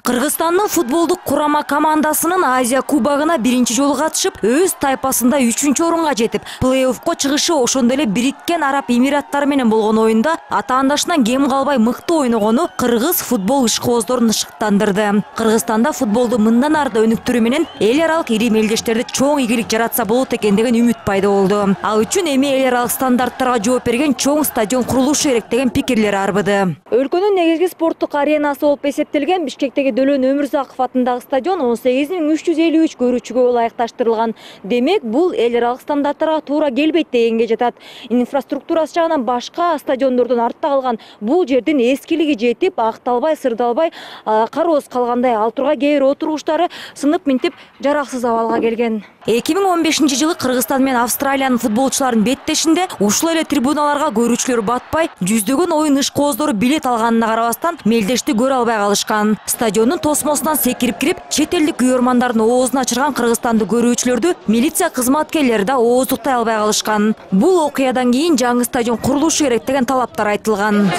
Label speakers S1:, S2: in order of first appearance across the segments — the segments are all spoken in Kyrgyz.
S1: Кыргызстандын футболдук курама командасынын Азия кубогуна биринчи жолу катышып, өз тайпасында 3-орунга жетип, плей-оффко чыгышы ошондой эле Бириккен Араб Эмираттары менен болгон оюнда атаандашынан кем калбай мыкты ойногону кыргыз футбол ишкобоздорун ышыктандырды. Кыргызстанда футболду мындан ары да өнүктүрүү менен эл аралык ири мелдештерде чоң ийгилик жаратса болот экен деген үмүт пайда болду. Ал үчүн эми эл аралык стандарттарга жооп берген чоң стадион курулушу керек деген пикирлер арбыды. Өлкөнүн негизги спорттук аренасы болуп эсептелген Бишкектеги Дөлөн Өмүрзаков атындагы стадион 18.353 көрүүчүгө ылайыкташтырылган. Демек, бул эл аралык стандарттарга туура келбейт дегенге жатат. Инфраструктурасы жагынан башка стадиондордон артта калган бул жердин эскилиги жетип, акталбай, сырдалбай, кароосуз калгандай ал тургай кээ бир отургучтары сынып минтип жараксыз абалга келген. 2015-жылы Кыргызстан менен Австралиянын футболчуларынын беттешинде ушул эле трибуналарга көрүүчүлөр батпай, жүздөгөн оюн ишкобоздору билет алганына карабастан мелдешти көрө албай калышкан. Стадиондун тосмосунан секирип кирип, чет элдик күйөрмандардын оозун ачырган кыргызстандык көрүүчүлөрдү милиция кызматкерлери да ооздуктай албай калышкан. Бул окуядан кийин жаңы стадион курулушу керек деген талаптар айтылган.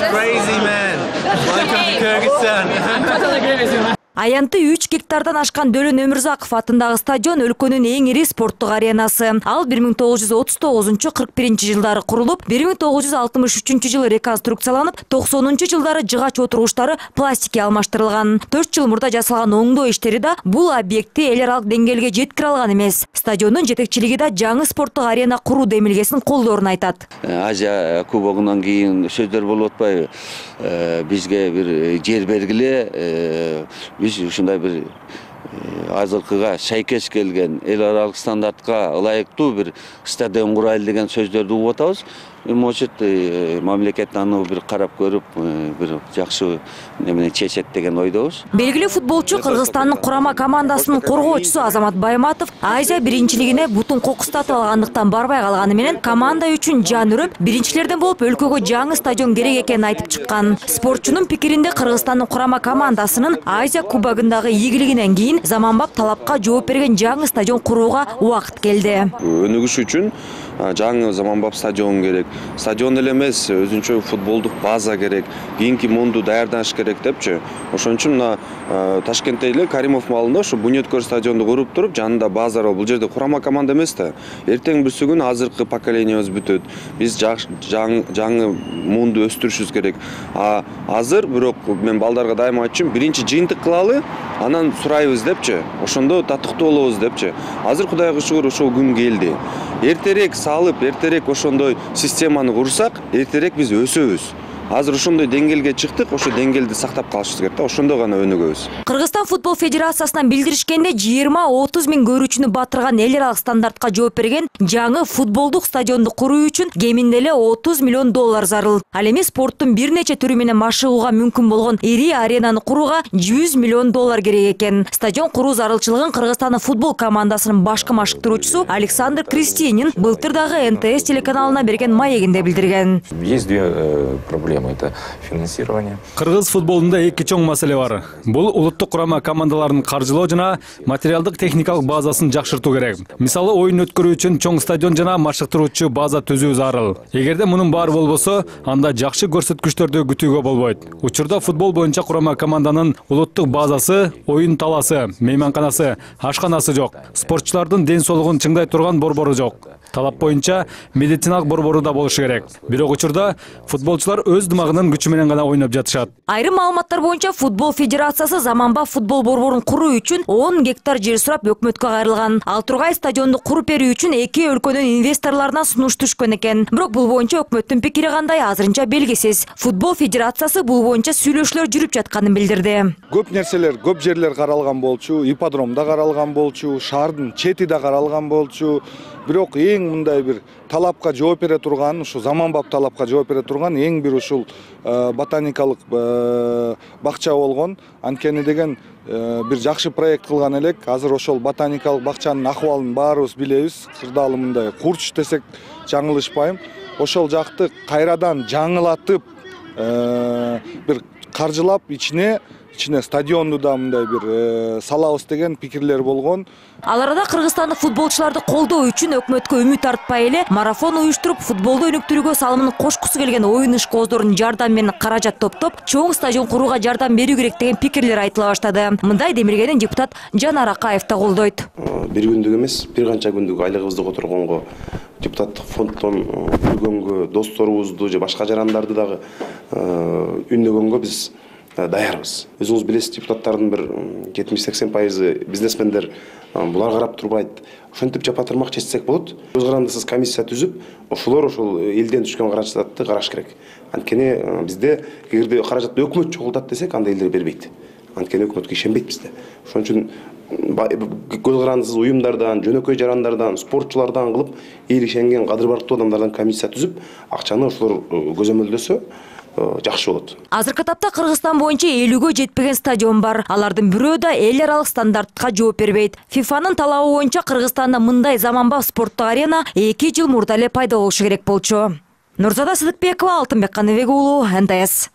S1: Аянты 3 гектардан ашкан Дөлөн Өмүрзаков атындагы стадион өлкөнүн эң ири спорттук аренасы. Ал 1939-41 жылдары курулуп, 1963 жылы реконструкцияланып, 90 жылдары жыгач отургучтары пластикке алмаштырылган. 4 жыл мурда жасалган оңдоо иштери да бул объектти эл аралык деңгээлге жеткире алган эмес. Стадиондун жетекчилиги да жаңы спорттук арена куруу демилгесин колдоорун айтат.
S2: Азия кубогунан кийин сөздөр болуп атпайбы? Бизге бир жер бергиле, биз ушундай бир азыркыга шайкеш келген эл аралык стандартка ылайыктуу бир стадион курайлы деген сөздөрдү угуп атабыз. Может, мамлекет аны бир карап көрүп, бир жакшы немене чечет деген ойдобуз.
S1: Белгилүү футболчу Кыргызстандын курама командасынын коргоочусу Азамат Байматов Азия биринчилигине бутун кокустатып алгандыктан барбай калганы менен команда үчүн жан үрөп, биринчилерден болуп өлкөгө жаңы стадион керек экенин айтып чыккан. Спортчунун пикиринде Кыргызстандын курама командасынын Азия кубогундагы ийгилигинен кийин заманбап талапка жооп берген жаңы стадион курууга убакыт келди.
S3: Өнүгүш үчүн жаңы заманбап стадион керек. Стадион эле эмес, өзүнчө футболдук база керек. Кийинки муунду даярдаш керек депчи. Ошон үчүн мына Ташкентте эле Каримов маалында ушу Бунеткөр стадионду куруп туруп, жанында база бар. Бул жерде курама команда эмес да. Эртең бүрсү күн азыркы поколениябыз бүтөт. Биз жаңы муунду өстүрүшүбүз керек. Азыр бирок мен балдарга дайыма айтчумун, биринчи жыйынтык кылалы, анан сурайбыз депчи. Ошондо татыктуу болобуз депчи. Азыр Кудайга шүгүр ошол күн келди. Эртерээк салып, эртерээк ошондой системаны курсак, эртерээк биз өсөбүз. Азыр ошондой деңгээлге чыктык, ошо деңгээлди сактап калышыбыз керек да, ошондо гана өнүгөбүз.
S1: Кыргызстан футбол федерациясынан билдиришкенде 20-30 миң көрүүчүнү батырган эл аралык стандартка жооп берген жаңы футболдук стадионду куруу үчүн кеминде эле $30 миллион зарыл. Ал эми спорттун бир нече түрү менен машыгууга мүмкүн болгон ири аренаны курууга $100 миллион керек экен. Стадион куруу зарылчылыгын Кыргызстандын футбол командасынын башкы машыктыруучусу Александр Кристинин былтыр дагы НТС телеканалына берген маегинде билдирген.
S4: Есть две проблемы. Это финансирование.
S5: Кыргыз футболунда эки чоң маселе бар. Бул улуттук курама командаларын каржылоо жана материалдык техникалык базасын жакшыртуу керек. Мисалы, оюн өткөрүү үчүн чоң стадион жана машыктыруучу база түзүү зарыл. Эгерде мунун баары болбосо, анда жакшы көрсөткүчтөрдү күтүүгө болбойт. Учурда футбол боюнча курама команданын улуттук базасы, оюн таласы, мейманканасы, ашканасы жок. Спортчулардын ден соолугун чыңдай турган борбору жок. Талап боюнча медициналык борбору да болушу керек. Бирок учурда футболчулар өз дымагынын күчү менен гана ойноп жатышат.
S1: Айрым маалыматтар боюнча футбол федерациясы заманбап футбол борборун куруу үчүн 10 гектар жер сурап өкмөткө кайрылган. Ал тургай стадионду куруп берүү үчүн эки өлкөнүн инвесторлорунан сунуш түшкөн экен. Бирок бул боюнча өкмөттүн пикири кандай азырынча белгисиз. Футбол федерациясы бул боюнча сүйлөшүүлөр жүрүп жатканын билдирди.
S6: Көп нерселер, көп жерлер каралган болчу, ипподром да каралган болчу, шаардын чети да каралган болчу. Бирок эң мындай бир талапка жооп бере турган, ушу заманбап талапка жооп бере турган эң бир ушул ботаникалык бакча болгон. Анткени деген бир жакшы проект кылган элек. Азыр ошол ботаникалык бакчанын акыбалын баарыбыз билебиз. Кырдаалы мындай курч десек жаңылышпайм. Ошол жакты кайрадан жаңылатып, бир каржылап ичине ичине стадионду да мындай бир салабыз деген пикирлер болгон.
S1: Ал арада кыргызстандык футболчуларды колдоо үчүн өкмөткө үмүт артпай эле марафон уюштуруп, футболду өнүктүрүүгө салымын кошкусу келген оюн ишкоздордун жардамы менен каражат топтоп, чоң стадион курууга жардам берүү керек деген пикирлер айтыла баштады. Мындай демилгенин депутат Жанар Акаев да колдойт.
S7: Бир күндүк эмес, бир канча күндүк айлыгыбызды которгонго, депутаттык фонддон жүргөнгө, досторубузду же башка жарандарды дагы үндөгөнгө биз даярбыз. Өзүңүз билесиз, депутаттардын бир 70-80% бизнесмендер булар карап турбайт. Ошентип жапатырмак чечсек болот. Көз карандысыз комиссия түзүп, ошолор ошол элден түшкөн каражатты караш керек. Анткени бизде эгерде каражатты өкмөт чогултат десек, анда элдер бербейт. Анткени өкмөткө ишенбейт бизде. Ошон үчүн көз карандысыз уюмдардан, жөнөкөй жарандардан, спортчулардан кылып, эл ишенген кадыр барктуу адамдардан комиссия түзүп, акчаны ошолор көзөмөлдөсө жакшы болот.
S1: Азыркы тапта Кыргызстан боюнча 50гө жетпеген стадион бар. Алардын бирөө да эл аралык стандартка жооп бербейт. ФИФАнын талабы боюнча Кыргызстанда мындай заманбап спорттук арена 2 жыл мурда эле пайда болушу керек болчу. Нурзада Сыдыкбекова, Алтынбек Каныбек уулу, НТС.